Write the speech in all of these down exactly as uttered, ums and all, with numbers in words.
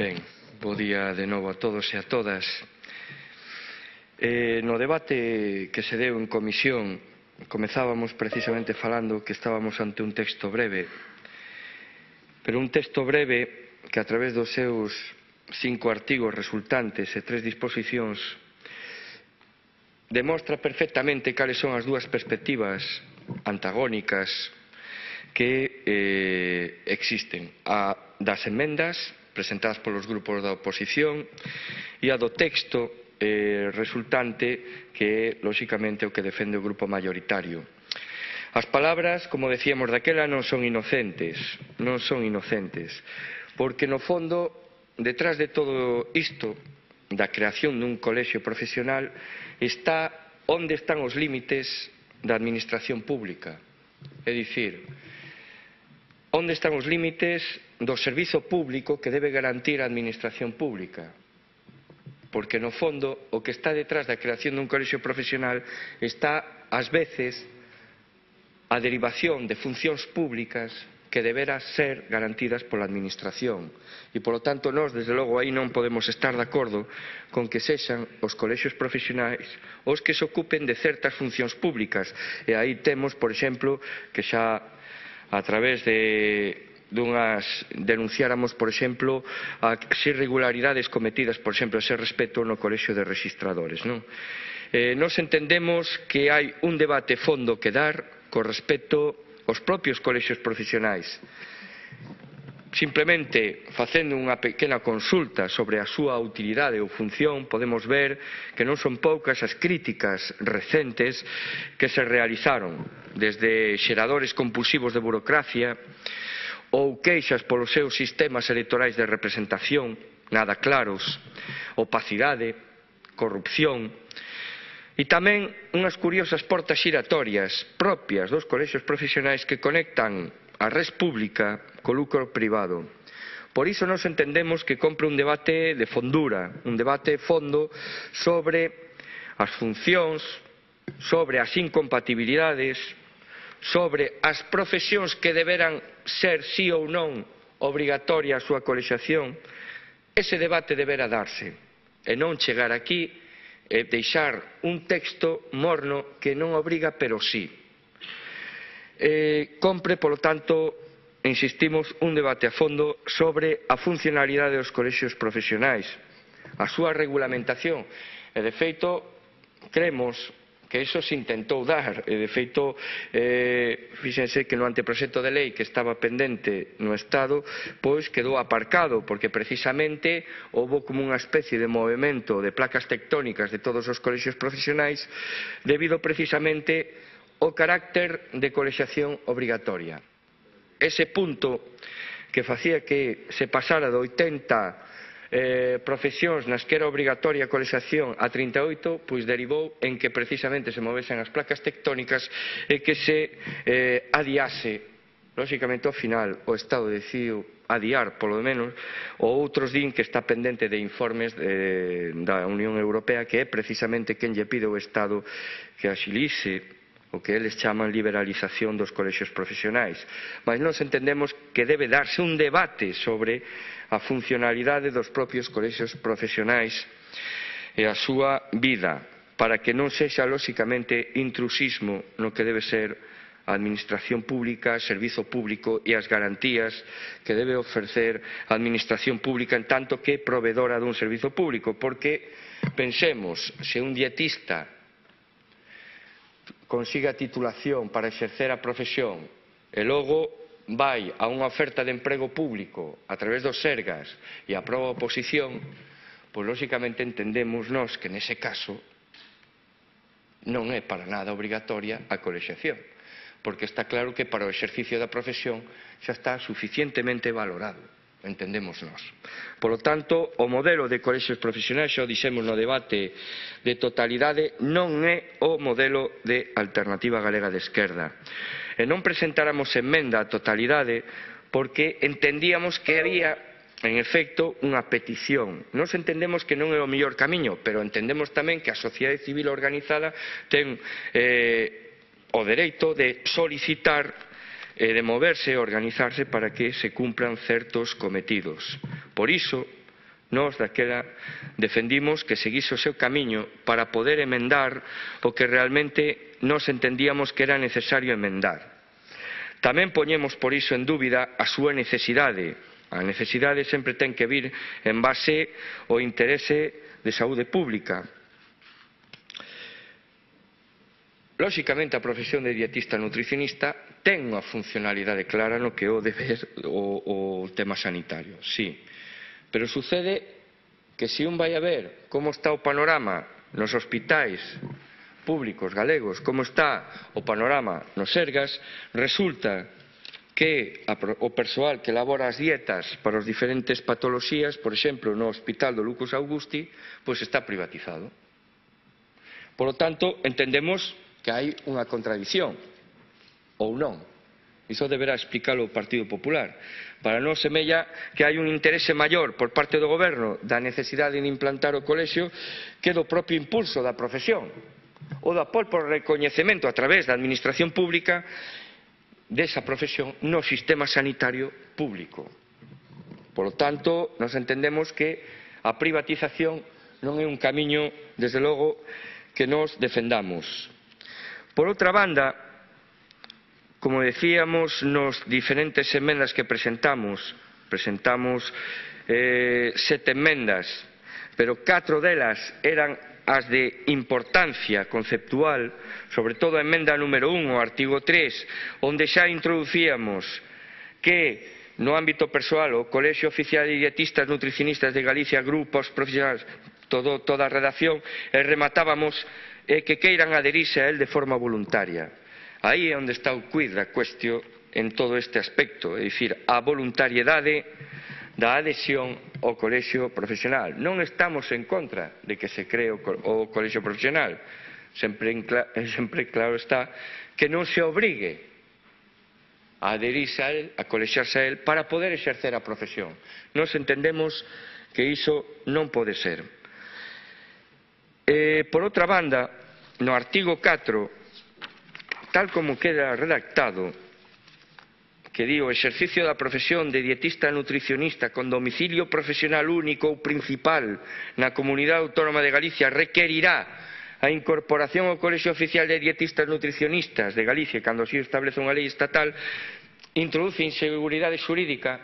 Ben, bo día de novo a todos e a todas. Eh, no debate que se deu en comisión, comezábamos precisamente falando que estábamos ante un texto breve, pero un texto breve que a través dos seus cinco artigos resultantes e tres disposicións demostra perfectamente cales son as dúas perspectivas antagónicas que eh, existen, a das emendas presentadas polos grupos da oposición e a do texto eh, resultante que, lóxicamente, o que defende o grupo maioritario. As palabras, como decíamos daquela, non son inocentes, non son inocentes, porque, no fondo, detrás de todo isto, da creación dun colexio profesional, está onde están os límites da administración pública. É dicir, onde están os límites do servizo público que debe garantir a administración pública. Porque, no fondo, o que está detrás da creación dun colexio profesional está, ás veces, a derivación de funcións públicas que deberá ser garantidas pola administración. E, polo tanto, nós, desde logo, aí non podemos estar de acordo con que sexan os colexios profesionais os que se ocupen de certas funcións públicas. E aí temos, por exemplo, que xa a través de dunhas denunciáramos, por exemplo, as irregularidades cometidas, por exemplo, a ese respecto no colexio de rexistradores, non? Eh, nos entendemos que hai un debate fondo que dar con respecto aos propios colexios profesionais. Simplemente, facendo unha pequena consulta sobre a súa utilidade ou función, podemos ver que non son poucas as críticas recentes que se realizaron, desde xeradores compulsivos de burocracia ou queixas polos seus sistemas electorais de representación nada claros, opacidade, corrupción, e tamén unhas curiosas portas xiratorias propias dos colexios profesionais que conectan a res pública co lucro privado. Por iso nos entendemos que compre un debate de fondura, un debate fondo sobre as funcións, sobre as incompatibilidades, sobre as profesións que deberan ser sí ou non obrigatoria a súa colexiación. Ese debate debera darse e non chegar aquí e deixar un texto morno que non obriga, pero sí. Eh, compre, polo tanto, insistimos, un debate a fondo sobre a funcionalidade dos colexios profesionais, a súa regulamentación. E, de feito, cremos que iso se intentou dar, e de feito, eh, fíxense que no anteproxecto de lei que estaba pendente no Estado, pois quedou aparcado, porque precisamente houbo como unha especie de movimento de placas tectónicas de todos os colexios profesionais, debido precisamente ao carácter de colexiación obrigatoria. Ese punto que facía que se pasara de oitenta Eh, profesións nas que era obrigatoria a colexiación a trinta e oito, pois derivou en que precisamente se movesen as placas tectónicas e que se eh, adiase, lóxicamente ao final o Estado decidiu adiar, polo menos, ou outros din que está pendente de informes de, da Unión Europea, que é precisamente quen lle pide ao Estado que axilice o que eles chaman liberalización dos colexios profesionais. Mas nós entendemos que debe darse un debate sobre a funcionalidade dos propios colexios profesionais e a súa vida, para que non sexa, lóxicamente, intrusismo no que debe ser a administración pública, servizo público e as garantías que debe ofrecer a administración pública en tanto que provedora dun servizo público. Porque, pensemos, se un dietista consiga titulación para exercer a profesión e logo vai a unha oferta de emprego público a través dos Sergas e aproba a oposición, pois lóxicamente entendemos nós que nese caso non é para nada obrigatoria a colexiación, porque está claro que para o exercicio da profesión xa está suficientemente valorado, entendemos nós. Polo tanto, o modelo de colexios profesionais, xa o dixemos no debate de totalidade, non é o modelo de Alternativa Galega de Esquerda. E non presentáramos emenda á totalidade porque entendíamos que había, en efecto, unha petición. Nos entendemos que non é o mellor camiño, pero entendemos tamén que a sociedade civil organizada ten eh, o dereito de solicitar e de moverse e organizarse para que se cumpran certos cometidos. Por iso, nós daquela defendimos que seguise o seu camiño para poder emendar o que realmente nós entendíamos que era necesario emendar. Tamén poñemos por iso en dúbida a súa necesidade. A necesidade sempre ten que vir en base ao interese de saúde pública. Lóxicamente, a profesión de dietista nutricionista ten unha funcionalidade clara no que é o deber o, o tema sanitario, sí. Pero sucede que se un vai a ver como está o panorama nos hospitais públicos galegos, como está o panorama nos Sergas, resulta que o persoal que elabora as dietas para as diferentes patoloxías, por exemplo, no Hospital do Lucus Augusti, pois está privatizado. Por lo tanto, entendemos que hai unha contradición, ou non. Iso deberá explicarlo o Partido Popular. Para nós semella que hai un interese maior por parte do Goberno da necesidade de implantar o colexio que do propio impulso da profesión, ou do apoio por recoñecemento a través da administración pública desa profesión no sistema sanitario público. Por lo tanto, nos entendemos que a privatización non é un camiño, desde logo, que nos defendamos. Por outra banda, como decíamos nos diferentes emendas que presentamos, presentamos eh, sete emendas, pero catro delas eran as de importancia conceptual, sobre todo a emenda número un, o artigo tres, onde xa introducíamos que no ámbito persoal o Colexio Oficial de Dietistas Nutricionistas de Galicia, grupos profesionais, todo, toda a redacción, e rematábamos e que queiran aderirse a él de forma voluntaria. Aí é onde está o quid da cuestión en todo este aspecto, é dicir, a voluntariedade da adhesión ao colexio profesional. Non estamos en contra de que se cree o colexio profesional. Sempre, sempre claro está que non se obrigue a adherirse a él, a colexiarse a él, para poder exercer a profesión. Nós entendemos que iso non pode ser. Eh, por outra banda, no artigo catro, tal como queda redactado, que di o exercicio da profesión de dietista nutricionista con domicilio profesional único ou principal na Comunidade Autónoma de Galicia requerirá a incorporación ao Colexio Oficial de Dietistas Nutricionistas de Galicia cando así establece unha lei estatal, introduce inseguridade xurídica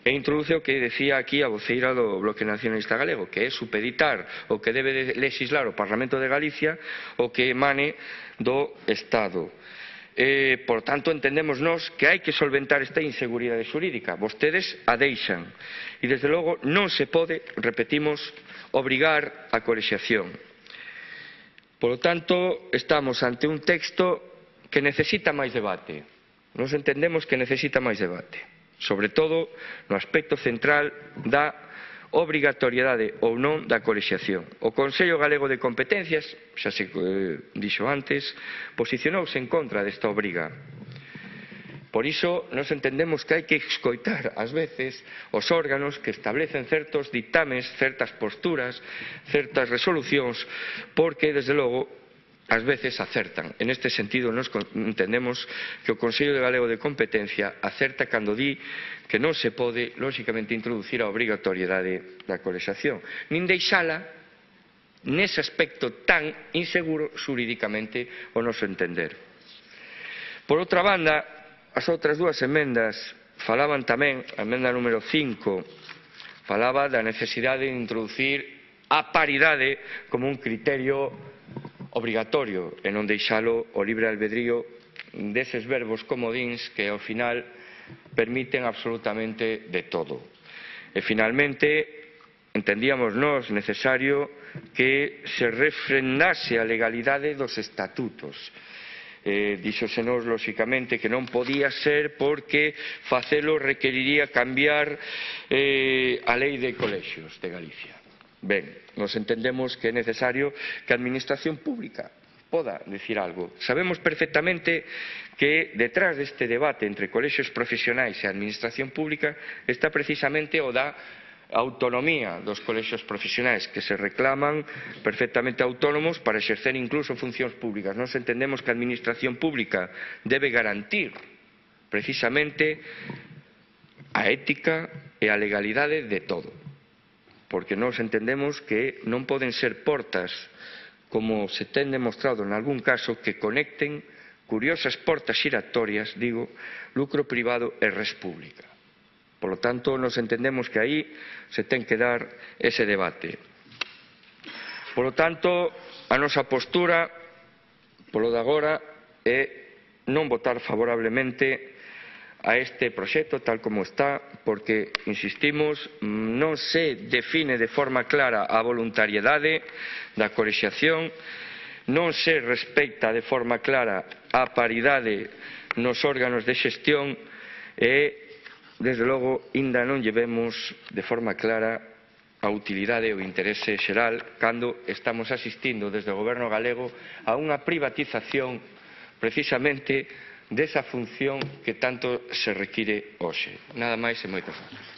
e introduce o que decía aquí a voceira do Bloque Nacionalista Galego, que é supeditar o que debe de legislar o Parlamento de Galicia o que emane do Estado. Eh, por tanto, entendemos nós que hai que solventar esta inseguridade xurídica. Vostedes a deixan. E, desde logo, non se pode, repetimos, obrigar a colexiación. Por lo tanto, estamos ante un texto que necesita máis debate. Nos entendemos que necesita máis debate. Sobre todo no aspecto central da obrigatoriedade ou non da colexiación. O Consello Galego de Competencias, xa se eh, dixo antes, posicionouse en contra desta obriga. Por iso, nos entendemos que hai que escoitar, ás veces, os órganos que establecen certos dictames, certas posturas, certas resolucións, porque, desde logo, ás veces acertan. En este sentido, nos entendemos que o Consello Galego de Competencia acerta cando di que non se pode, lóxicamente, introducir a obrigatoriedade da colexiación, nin deixala nese aspecto tan inseguro xurídicamente o noso entender. Por outra banda, as outras dúas emendas falaban tamén, a emenda número cinco, falaba da necesidade de introducir a paridade como un criterio obrigatorio e non deixalo o libre albedrío deses verbos comodíns que ao final permiten absolutamente de todo. E finalmente entendíamos nós necesario que se refrendase a legalidade dos estatutos. Eh, díxosenos, lóxicamente, que non podía ser porque facelo requeriría cambiar eh, a lei de colexios de Galicia. Ben, nos entendemos que é necesario que a administración pública poda decir algo. Sabemos perfectamente que detrás deste debate entre colexios profesionais e administración pública está precisamente o da autonomía dos colexios profesionais que se reclaman perfectamente autónomos para exercer incluso funcións públicas. Nos entendemos que a administración pública debe garantir precisamente a ética e a legalidade de todo. porque nós entendemos que non poden ser portas, como se ten demostrado en algún caso, que conecten curiosas portas xiratorias, digo, lucro privado e res pública. Por lo tanto, nos entendemos que aí se ten que dar ese debate. Por lo tanto, a nosa postura, polo de agora, é non votar favorablemente a este proxecto tal como está, porque, insistimos, non se define de forma clara a voluntariedade da colexiación, non se respecta de forma clara a paridade nos órganos de xestión e, desde logo, aínda non lle vemos de forma clara a utilidade e o interese xeral cando estamos asistindo desde o Goberno galego a unha privatización precisamente desa función que tanto se require hoxe. Nada máis e moitas grazas.